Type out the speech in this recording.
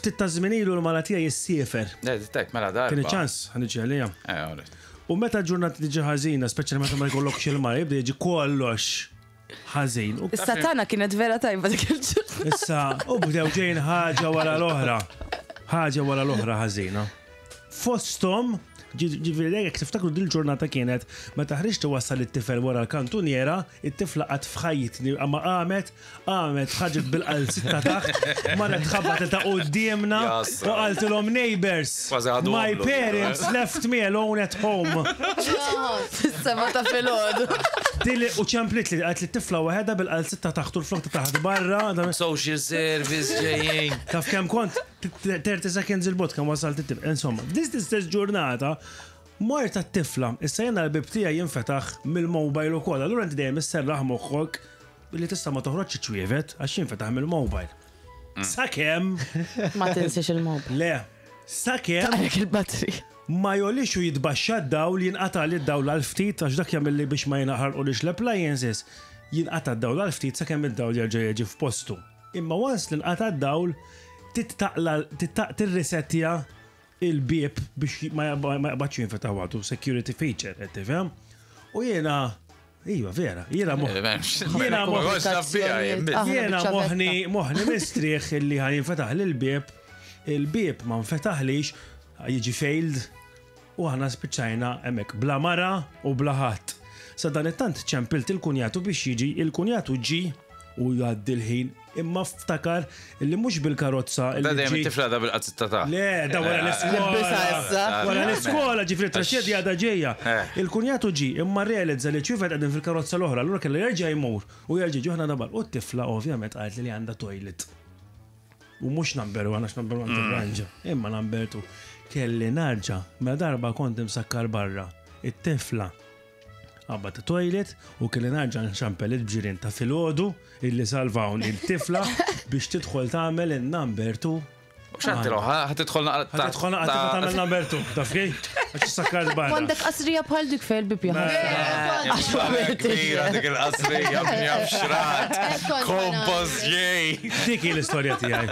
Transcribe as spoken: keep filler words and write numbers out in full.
Ftit ta' żmien ilu l-mara tiegħi ssiefer. Le, tek, mela darba. Kien ċans ħa niġi għalija. Eh, alright. U meta ġurnata tiġi ħażina, speċjalment meta ma jkollokx il-mara, jibda jiġi kollox ħażin. U Issa tana kienet vera tajba dik il-ġurnata. Issa, u bdew ġejn ħaġa wara l-oħra. Ħaġa wara l-oħra ħażina. Fostom, ġifieri jekk tiftakru dil-ġurnata kienet meta ħriġt wassal it-tifel wara l-kantuniera, it-tifla qatt f'ħajjitni ma qamet, qamet ħarġet bil-qalzitta taħt, marret tħabbat ta' quddiemna Jasra. U qaltilhom, "Neighbors, Kważi ħadu my għomlu. parents left me alone at home." Fis-seba ta' filgħodu. Dili u ċemplit li għat li t-tifla waħedha bil-qalzitta taħt u l-flok ta' taħt barra. da- Social service ġejjin. Taf kemm kont thirty seconds il-bot kemm wasalt it-tifla. Insomma, dis l-istess ġurnata mort t-tifla, issa jena l-bib tiegħi jinfetaħ mill-mobile ukoll. Allura inti dejjem isserraħ moħħok li tista' ma toħroġx ċwievet għax jinfetaħ mill-mobile. Sakemm Ma tinsiex il-mobile. Le, sakemm Għalek il-battery. Ma jolix u jitbaxxa d-dawl, jinqata' li d-dawl għal ftit, għax dak jagħmel li biex ma jinħarqulix l-appliances, jinqata' d-dawl għal ftit sakemm id-dawl jerġa' jiġi f'postu. Imma once li nqata' d-dawl, tittaqla tirrisettja il-bieb biex ma ma jaqbadx jinfetaħ waħdu, security feature, qed tifhem? U jiena, iva vera, jiena moħ Jiena moħ- Aħna Jiena biċċa moħni, moħni mistrieħ illi ħa jinfetaħ l-bieb, il-bieb ma nfetaħlix, jiġi failed, u aħna spiċċajna hemmhekk bla mara u bla ħadd. Sa dan it-tant ċempilt il-kunjatu biex jiġi, il-kunjatu ġi u jgħaddi l-ħin, imma ftakar illi mhux bil-karozza Da illi dejjem ġi. it-tifla da bil-qazzetta ta' Le, da wara Libbisha l-iskola. Issa. Wara l-iskola, ġifieri traċedja għadha ġejja. Eh. Il-kunjatu ġi, imma realizza li ċwievet qegħdin fil-karozza l-oħra, allura kellu jerġa' jmur u jerġa' ġuħna dabar. U t-tifla ovvjament qalt li li għandha toilet. U mhux number one, għax number one tirranġa, imma number two. Kelli narġa, ma darba kont imsakkar barra. It-tifla għabba ta' toilet u kelli narġa nċempel il-ġirien ta' filgħodu illi salvawni il-tifla biex tidħol tagħmel il-number two. X'għedtilha, ħa tidħol naqra. Ħa tidħol naqra tagħmel number two, taf kif? Għax sakkar barra. Għandek qasrija bħal dik fejn il-bib jaħasra. Kbira dik il-qasrija, bnija f'xrat. Kompost ġej. Dik hi l-istorja tiegħi.